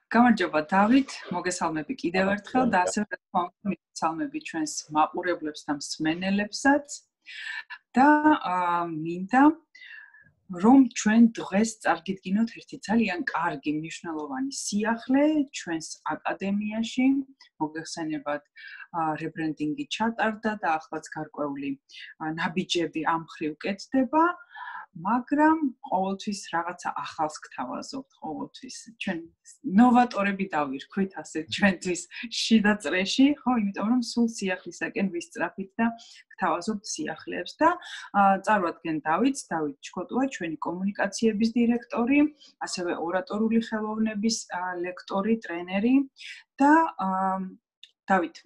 გამარჯობა დავით, მოგესალმები კიდევ ერთხელ და ასევე მოგესალმები ჩვენს მაყურებლებს და მსმენელებსაც და მინდა რომ ჩვენ დღეს წარგიდგინოთ ერთი ძალიან კარგი მნიშვნელოვანი სიახლე ჩვენს აკადემიაში, მოგეხსენებათ რებრენდინგი ჩატარდა და ახლაც გარკვეული ნაბიჯები ამ მხრივ კეთდება. მაგრამ ყოველთვის რაღაცა ახალს გთავაზობთ ყოველთვის. ჩვენ ნოვატორები დავირქვით ასე ჩვენთვის შიდა წრეში, ხო, იმიტომ რომ სულ სიახლისაკენ ვისწრაფით და გთავაზობთ სიახლეებს და წარვადგენ დავით ჩქოტუა, ჩვენი კომუნიკაციების დირექტორი, ასევე ორატორული ხელოვნების ლექტორი, ტრენერი და დავით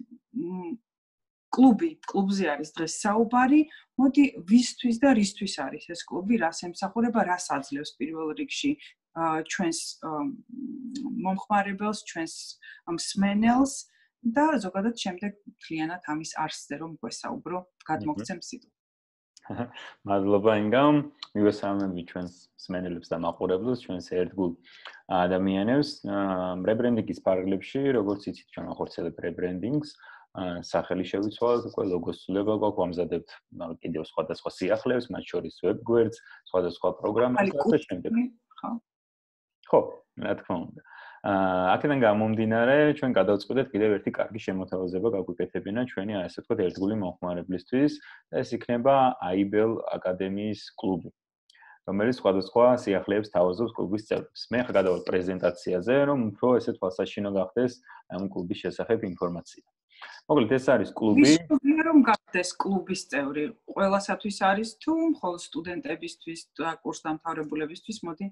კლუბზე არის დღეს საუბარი. მოდი ვისთვის და რისთვის არის ეს კლუბი, რას ემსახურება, რას აძლევს პირველ რიგში ჩვენს მომხმარებელს, ჩვენს მსმენელს და ზოგადად შემდეგ მთლიანად ამის არსზე რომ გვესაუბრო, გადმოგცემ სიტყვა. მადლობა ინგა, მივესალმები ჩვენს მსმენელებს და მაყურებლებს, ჩვენს ერთგულ ადამიანებს. რებრენდინგის ფარგლებში, როგორც იცით, ჩვენ ახორციელებთ რებრენდინგს. სახელი შევიცვალოთ, უკვე ლოგოს ცვლილება გვაქვს, ვამზადებთ კიდევ სხვადასხვა სიახლეებს, მათ შორის ვებ-გვერდს, სხვადასხვა პროგრამას და ასე შემდეგ. ხო, რა თქმა უნდა. აქედან გამომდინარე, ჩვენ გადავწყვეტეთ კიდევ ერთი კარგი შემოთავაზება გაგვიკეთებინა ჩვენი, ასე ვთქვათ, ერთგული მომხმარებლისთვის და ეს იქნება IBL აკადემიის კლუბი, რომელიც სხვადასხვა სიახლეებს თავაზობს კლუბის წევრებს. მე ახლა გადავალ პრეზენტაციაზე, რომ უფრო ესე თვალსაჩინო გახდეს ამ კლუბის შესახებ ინფორმაცია. მოკლედ ეს არის კლუბი. ვისწრაფია რომ გახდეს კლუბის წევრი, ყველასათვის არის თუ მხოლოდ სტუდენტებისთვის და კურსდამთავრებულებისთვის, მოდი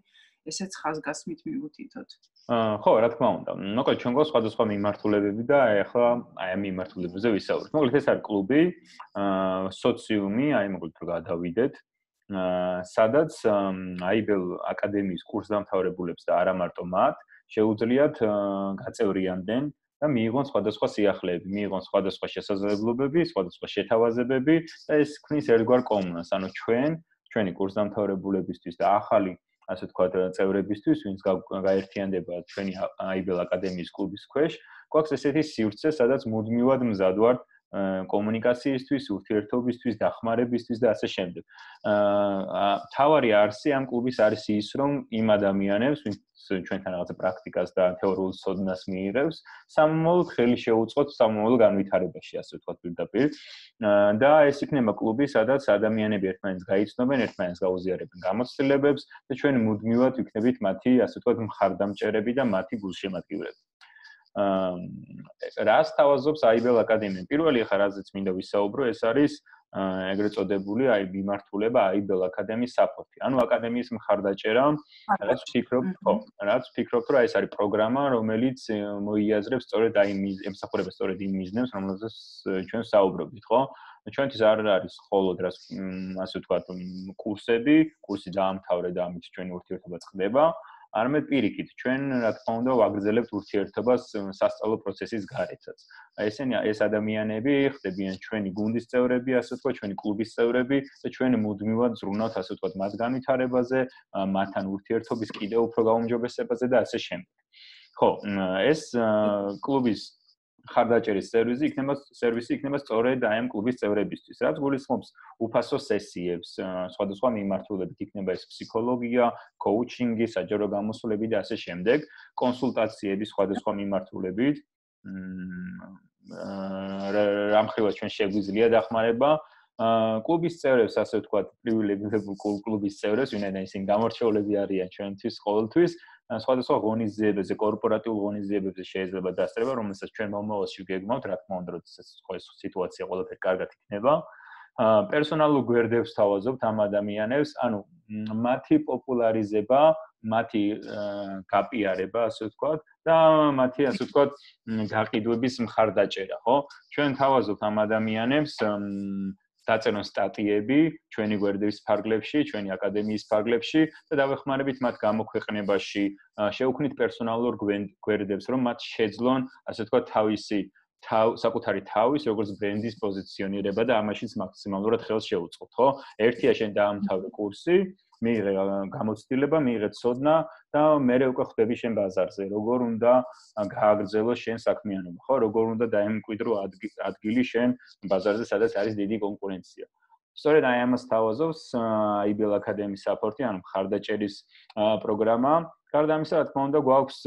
ესეც ხაზგასმით მივუთითოთ. ხო, რა თქმა უნდა. მოკლედ ჩვენ გვაქვს სხვადასხვა მიმართულებები და ახლა აი ამ მიმართულებებზე ვისაუბრებთ. მოკლედ ეს არის კლუბი, სოციუმი, აი მოკლედ რომ გადავიდეთ, სადაც IBL აკადემიის კურსდამთავრებულებს და არა მარტო მათ შეუძლიათ გაწევრიანდნენ და მიიღონ სხვადასხვა სიახლეები, მიიღონ სხვადასხვა შესაძლებლობები, სხვადასხვა შეთავაზებები და ეს ქმნის ერთგვარ კომუნას. ანუ ჩვენი კურსდამთავრებულებისთვის და ახალი, ასე ვთქვათ, წევრებისთვის, ვინც გაერთიანდება ჩვენი IBL აკადემიის კლუბის ქვეშ, გვაქვს ესეთი სივრცე, სადაც მუდმივად მზად ვართ კომუნიკაციისთვის, ურთიერთობისთვის, დახმარებისთვის და ასე შემდეგ. თავარი არსი ამ კლუბის არის ის, რომ იმ ადამიანებს, ვინც ჩვენთან რაღაცა პრაქტიკას და თეორიულ ცოდნას მიიღებს, სამომავლოდ ხელი შეუწყოთ სამომავლო განვითარებაში, ასე ვთქვათ, პირდაპირ. და ეს იქნება კლუბი, სადაც ადამიანები ერთმანეთს გაიცნობენ, ერთმანეთს გაუზიარებენ გამოცდილებებს და ჩვენ მუდმივად ვიქნებით მათი, ასე ვთქვათ, მხარდამჭერები და მათი გულშემატკივრები. რას თავაზობს IBL აკადემია? პირველი ახლა რაზეც მინდა ვისაუბრო, ეს არის ეგრეთ წოდებული მიმართულება IBL აკადემიის საპორტი. ანუ აკადემიის მხარდაჭერა, რაც ვფიქრობთ, რომ ეს არის პროგრამა, რომელიც მოიაზრებს სწორედ ემსახურება სწორედ იმ მიზნებს, რომელზეც ჩვენ საუბრობთ, ხო? ჩვენთვის არ არის მხოლოდ რას ასე ვთქვათ, კურსი დაამთავრე და ამით ჩვენი ურთიერთობა წყდება. არამედ პირიქით, ჩვენ რა თქმა უნდა ვაგრძელებთ ურთიერთობას სასწავლო პროცესის გარეცაც. ეს ადამიანები ხდებიან ჩვენი გუნდის წევრები, ასე ვთქვათ, ჩვენი კლუბის წევრები და ჩვენ მუდმივად ზრუნავთ, ასე ვთქვათ, მათ განვითარებაზე, მათთან ურთიერთობის კიდევ უფრო გაუმჯობესებაზე და ასე შემდეგ. ხო, ეს კლუბის ხარდაჭერის სერვისი იქნება სწორედ აი ამ კლუბის წევრებისთვის, რაც გულისხმობს უფასო სესიებს, სხვადასხვა მიმართულებით იქნება ეს ფსიქოლოგია, კოუჩინგი, საჯარო გამოსვლები და ასე შემდეგ, კონსულტაციები სხვადასხვა მიმართულებით. რამხრივად ჩვენ შეგვიძლია დახმარება კლუბის წევრებს, ასე ვთქვათ, პრივილეგირებულ კლუბის წევრებს, ვინაიდან ისინი გამორჩეულები არიან ჩვენთვის ყოველთვის. სხვადასხვა ღონისძიებებზე, კორპორატიულ ღონისძიებებზე შეიძლება დასწრება, რომელსაც ჩვენ მომავალში გეგმავთ, რა თქმა უნდა, როდესაც ეს სიტუაცია ყველაფერი კარგად იქნება. პერსონალურ გვერდებს თავაზობთ ამ ადამიანებს, ანუ მათი პოპულარიზება, მათი გაპიარება, ასე ვთქვათ, და მათი, ასე ვთქვათ, გაყიდვების მხარდაჭერა, ხო? ჩვენ თავაზობთ ამ ადამიანებს დაწერონ სტატიები ჩვენი გვერდების ფარგლებში, ჩვენი აკადემიის ფარგლებში და დავეხმარებით მათ გამოქვეყნებაში, შევქმნით პერსონალურ გვერდებს, რომ მათ შეძლონ, ასე ვთქვათ, საკუთარი თავის, როგორც ბრენდის პოზიციონირება და ამაშიც მაქსიმალურად ხელს შეუწყოთ, ხო? ერთია შენ დაამთავრე კურსი, მიიღე გამოცდილება, მიიღე ცოდნა და მერე უკვე ხვდები შენ ბაზარზე, როგორ უნდა გააგრძელო შენ საქმიანობა, ხო? როგორ უნდა დაემკვიდრო ადგილი შენ ბაზარზე, სადაც არის დიდი კონკურენცია. სწორედ აი ამას თავაზობს IBL აკადემიის საპორტი, ანუ მხარდაჭერის პროგრამა. გარდა ამისა, რა თქმა უნდა, გვაქვს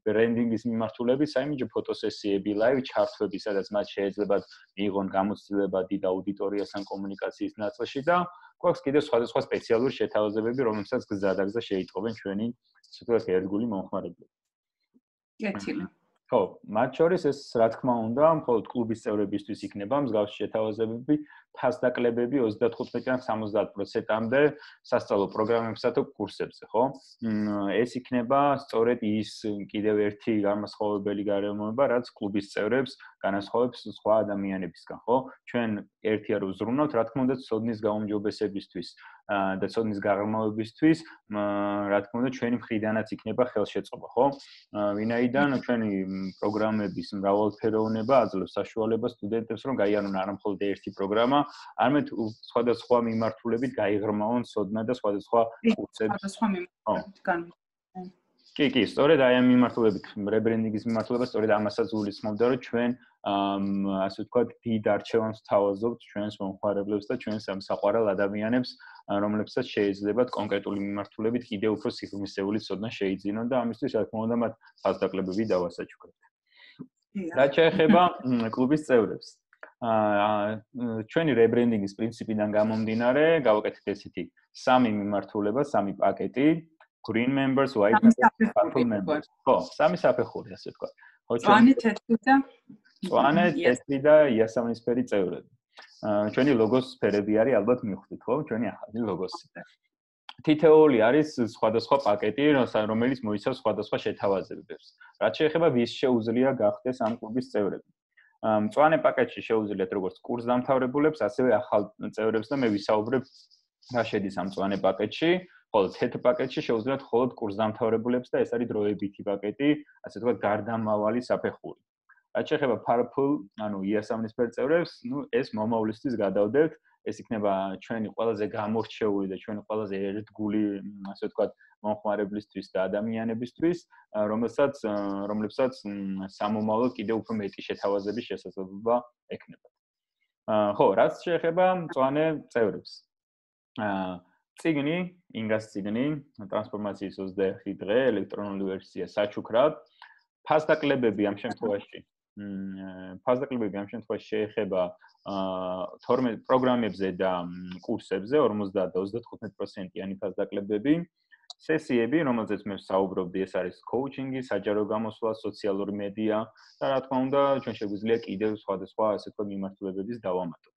ბრენდინგის მიმართულებით, საიმიჯო ფოტოსესიები, ლაივ ჩართვები, სადაც მათ შეეძლებათ მიიღონ გამოცდილება დიდ აუდიტორიასთან კომუნიკაციის ნაწილში და გვაქვს კიდევ სხვადასხვა სპეციალური შეთავაზებები, რომლებსაც გზადაგზა შეიტყობენ ჩვენი ასე ვთქვათ ერთგული მომხმარებლები. კეთილი. ხო, მათ შორის ეს რა თქმა უნდა, მხოლოდ კლუბის წევრებისთვის იქნება მსგავსი შეთავაზებები, ფასდაკლებები 35-დან 70%-მდე სასწავლო პროგრამებსა თუ კურსებზე, ხო? ეს იქნება სწორედ ის კიდევ ერთი განმასხვავებელი გარემოება, რაც კლუბის წევრებს განასხვავებს სხვა ადამიანებისგან, ხო? ჩვენ ერთია რომ ვზრუნავთ, რა თქმა უნდა, ცოდნის გაუმჯობესებისთვის და ცოდნის გაღრმავებისთვის, რა თქმა უნდა, ჩვენი მხრიდანაც იქნება ხელშეწყობა, ხო? ვინაიდან ჩვენი პროგრამების მრავალფეროვნება აძლევს საშუალებას სტუდენტებს, რომ გაიარონ არა მხოლოდ ერთი პროგრამა, არამედ სხვადასხვა მიმართულებით გაიღრმავონ ცოდნა და სხვადასხვა კურსები. სხვადასხვა მიმართულებით განვითარება. კი, სწორედ აი ამ მიმართულებით, რებრენდინგის მიმართულება სწორედ ამასაც გულისხმობდა, რომ ჩვენ ასე ვთქვათ, დიდ არჩევანს თავაზობთ ჩვენს მომხმარებლებს და ჩვენს ამ საყვარელ ადამიანებს, რომლებსაც შეეძლებათ კონკრეტული მიმართულებით კიდევ უფრო სიღრმისეული ცოდნა შეიძინონ და ამისთვის, რა თქმა უნდა, მათ ფასდაკლებები დავასაჩუქრებთ. რაც შეეხება კლუბის წევრებს. ჩვენი რებრენდინგის პრინციპიდან გამომდინარე, გავაკეთეთ ესეთი სამი მიმართულება, სამი პაკეტი. Green members, white members, purple members. ხო, სამი საფეხური, ასე ვთქვათ. მწვანე, თეთრი და მწვანე, თეთრი და იასამნისფერი წევრები. ჩვენი ლოგოს ფერები არის ალბათ მიხვდით, ხო? ჩვენი ახალი ლოგოსი. თითოეული არის სხვადასხვა პაკეტი, რომელიც მოიცავს სხვადასხვა შეთავაზებებს. რაც შეეხება ვის შეუძლია გახდეს ამ კლუბის წევრები. მწვანე პაკეტში შეუძლიათ როგორც კურსდამთავრებულებს, ასევე ახალ წევრებს და მე ვისაუბრებ რა შედის ამ მწვანე პაკეტში. ხოლო თეთრ პაკეტში შეუძლიათ მხოლოდ კურსდამთავრებულებს და ეს არის დროებითი პაკეტი, ასე ვთქვათ, გარდამავალი საფეხური. რაც შეეხება purple, ანუ იასამნისფერ წევრებს, ეს მომავლისთვის გადავდებთ, ეს იქნება ჩვენი ყველაზე გამორჩეული და ჩვენი ყველაზე ერთგული, ასე ვთქვათ, მომხმარებლისთვის და ადამიანებისთვის, რომლებსაც სამომავლოდ კიდევ უფრო მეტი შეთავაზების შესაძლებლობა ექნებათ. ხო, რაც შეეხება მწვანე წევრებს. წიგნი, ინგას წიგნი, ტრანსფორმაციის 21 დღე, ელექტრონული ვერსია საჩუქრად. ფასდაკლებები ამ შემთხვევაში შეეხება 12 პროგრამებზე და კურსებზე, 50 და 35%-იანი ფასდაკლებები. სესიები, რომელზეც მე ვსაუბრობდი, ეს არის კოუჩინგი, საჯარო გამოსვლა, სოციალური მედია და რა თქმა უნდა, ჩვენ შეგვიძლია კიდევ სხვადასხვა ასე ვთქვათ მიმართულებების დავამატოთ.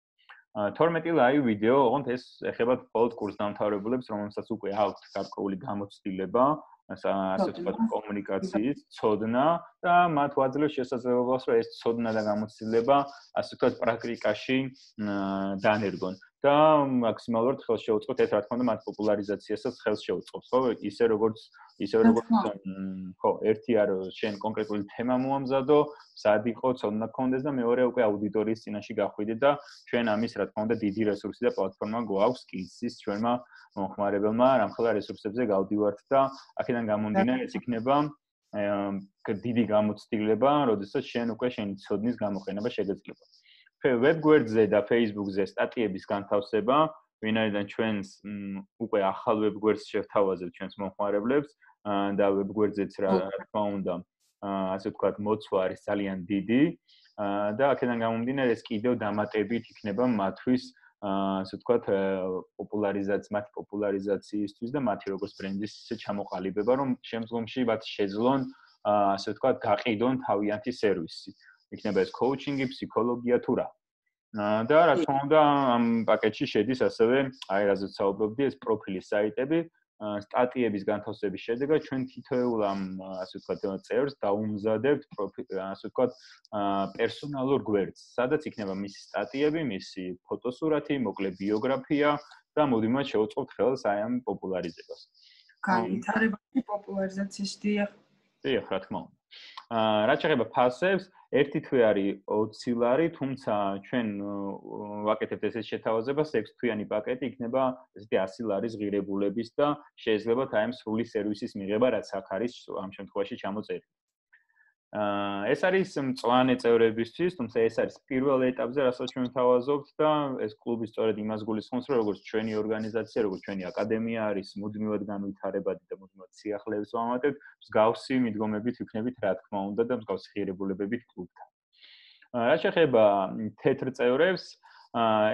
12 ლაივ ვიდეო, ოღონდ ეს ეხება მხოლოდ კურსდამთავრებულებს, რომელსაც უკვე აქვთ გარკვეული გამოცდილება, ასე ვთქვათ, კომუნიკაციის, ცოდნა და მათ ვაძლევს შესაძლებლობას, რომ ეს ცოდნა და გამოცდილება, ასე ვთქვათ, პრაქტიკაში დანერგონ და მაქსიმალურად ხელს შეუწყოთ ეს, რა თქმა უნდა, მათ პოპულარიზაციასაც ხელს შეუწყობს, ხო? ისე როგორც ხო, ერთია რომ შენ კონკრეტული თემა მოამზადო, სად იყო, ცოდნა გქონდეს და მეორე უკვე აუდიტორიის წინაშე გახვიდე და ჩვენ ამის, რა თქმა უნდა, დიდი რესურსი და პლატფორმა გვაქვს კილსის ჩვენმა მომხმარებელმა, რამხელა რესურსებზე გავდივართ და აქედან გამომდინარე ეს იქნება დიდი გამოცდილება, როდესაც შენ უკვე შენი ცოდნის გამოყენება შეგეძლება. ვებგვერდზე და Facebook-ზე სტატიების განთავსება, ვინაიდან ჩვენს უკვე ახალ ვებგვერდს შევთავაზებთ ჩვენს მომხმარებლებს და ვებგვერდზეც რა თქმა უნდა, ასე ვთქვათ, მოცვა არის ძალიან დიდი და აქედან გამომდინარე ეს კიდევ დამატებით იქნება მათთვის ასე ვთქვათ, მათი პოპულარიზაციისთვის და მათი როგორც ბრენდის ისე ჩამოყალიბება, რომ შემდგომში მათ შეძლონ ასე ვთქვათ, გაყიდონ თავიანთი სერვისი. იქნება ეს კოუჩინგი, ფსიქოლოგია თუ რა. და რა თქმა უნდა, ამ პაკეტში შედის ასევე, აი რაზეც საუბრობდი, ეს პროფილის საიტები, სტატიების განთავსების შედეგად ჩვენ თითოეულ ამ ასე ვთქვათ, წევრს დავუმზადებთ ასე ვთქვათ, პერსონალურ გვერდს, სადაც იქნება მისი სტატიები, მისი ფოტოსურათი, მოკლე ბიოგრაფია და მოდიმათ შევუწყობთ ხელს აი ამ პოპულარიზებას. განვითარებაში პოპულარიზაციაში დიახ. დიახ, რა თქმა უნდა. რაც შეეხება ფასებს, ერთი თვე არის 20 ლარი, თუმცა ჩვენ ვაკეთებთ ესეთ შეთავაზებას, 6 თვიანი პაკეტი იქნება ესეთი 100 ლარის ღირებულების და შეიძლება აი ამ სრული სერვისის მიღება, რაც აქ არის ამ შემთხვევაში ჩამოწერილი. ეს არის მწვანე წევრებისთვის, თუმცა ეს არის პირველ ეტაპზე, რასაც ჩვენ ვთავაზობთ და ეს კლუბი სწორედ იმას გულისხმობს, რომ როგორც ჩვენი ორგანიზაცია, როგორც ჩვენი აკადემია არის მუდმივად განვითარებადი და მუდმივად სიახლეებს ვამატებთ, მსგავსი მიდგომებით ვიქნებით, რა თქმა უნდა, და მსგავსი ღირებულებებით კლუბთან. რაც შეეხება თეთრ წევრებს,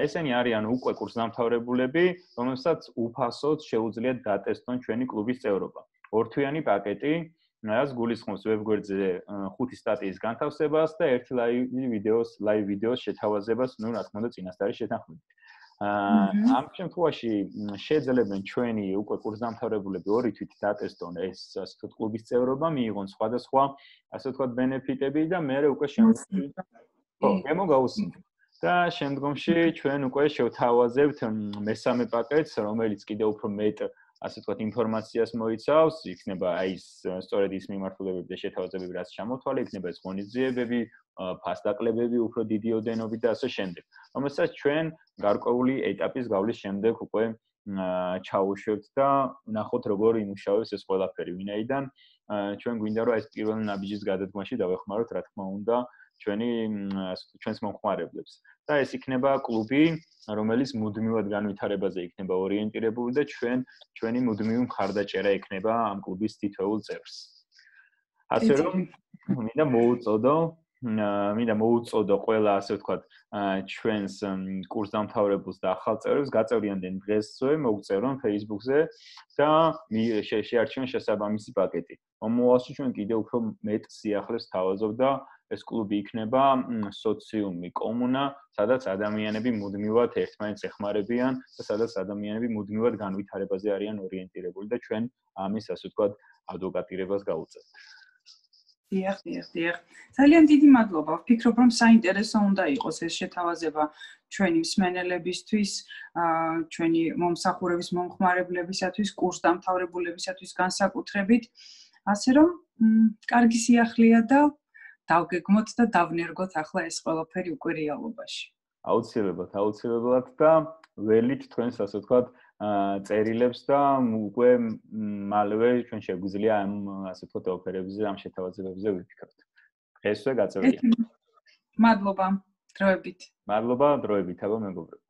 ესენი არიან უკვე კურსდამთავრებულები, რომელსაც უფასოდ შეუძლიათ დატესტონ ჩვენი კლუბის წევრობა. ორთვიანი პაკეტი რაც გულისხმობს ვებგვერდზე 5 სტატიის განთავსებას და ერთი ლაივ ვიდეოს შეთავაზებას, ну, რა თქმა უნდა, წინასწარი შეთანხმებით. ამ შემთხვევაში შეძლებენ ჩვენი უკვე კურსდამთავრებულები ორი თვით დატესტონ ეს ასე ვთქვათ კლუბის წევრობა, მიიღონ სხვადასხვა ასე ვთქვათ ბენეფიტები და მე უკვე შემდგომში გამოგაუსინოთ. და შემდგომში ჩვენ უკვე შევთავაზებთ მესამე პაკეტს, რომელიც კიდევ უფრო მეტ ასე ვთქვათ ინფორმაციას მოიცავს, იქნება აი ეს სწორედ ის მიმართულებები და შეთავაზებები, რაც ჩამოთვალე, იქნება ეს ღონისძიებები, ფასდაკლებები უფრო დიდი ოდენობით და ასე შემდეგ. რომელსაც ჩვენ გარკვეული ეტაპის გავლის შემდეგ უკვე ჩაუშვებთ და ვნახოთ როგორ იმუშავებს ეს ყველაფერი, ვინაიდან ჩვენ გვინდა რომ ეს პირველი ნაბიჯის გადადგმაში დავეხმაროთ, რა თქმა უნდა, ჩვენს მომხმარებლებს. და ეს იქნება კლუბი, რომელიც მუდმივად განვითარებაზე იქნება ორიენტირებული და ჩვენი მუდმივი მხარდაჭერა იქნება ამ კლუბის თითოეულ წევრს. ასე რომ მინდა მოუწოდო ყველა ასე ვთქვათ ჩვენს კურსდამთავრებულს და ახალ წევრებს გაწევრიანდნენ დღესვე, მოგწერონ Facebook-ზე და შეარჩიონ შესაბამისი პაკეტი. მომავალში ჩვენ კიდევ უფრო მეტ სიახლეს თავაზობ და ეს კლუბი იქნება სოციუმი, კომუნა, სადაც ადამიანები მუდმივად ერთმანეთს ეხმარებიან და სადაც ადამიანები მუდმივად განვითარებაზე არიან ორიენტირებული და ჩვენ ამის ასე ვთქვათ ადვოკატირებას გავუწევთ. დიახ. ძალიან დიდი მადლობა. ვფიქრობ, რომ საინტერესო უნდა იყოს ეს შეთავაზება ჩვენი მსმენელებისთვის, ჩვენი მომსახურების მომხმარებლებისათვის, კურსდამთავრებულებისათვის განსაკუთრებით. ასე რომ, კარგი სიახლეა და დავგეგმოთ და დავნერგოთ ახლა ეს ყველაფერი უკვე რეალობაში. აუცილებლად და ველით თქვენს ასე ვთქვათ წერილებს და უკვე მალევე ჩვენ შეგვიძლია ამ ასე ვთქვათ ოფერებზე, ამ შეთავაზებებზე ვიფიქროთ. დღესვე გაწევრიანებით. მადლობა დროებით. მადლობა დროებით, აბა მეგობრებო.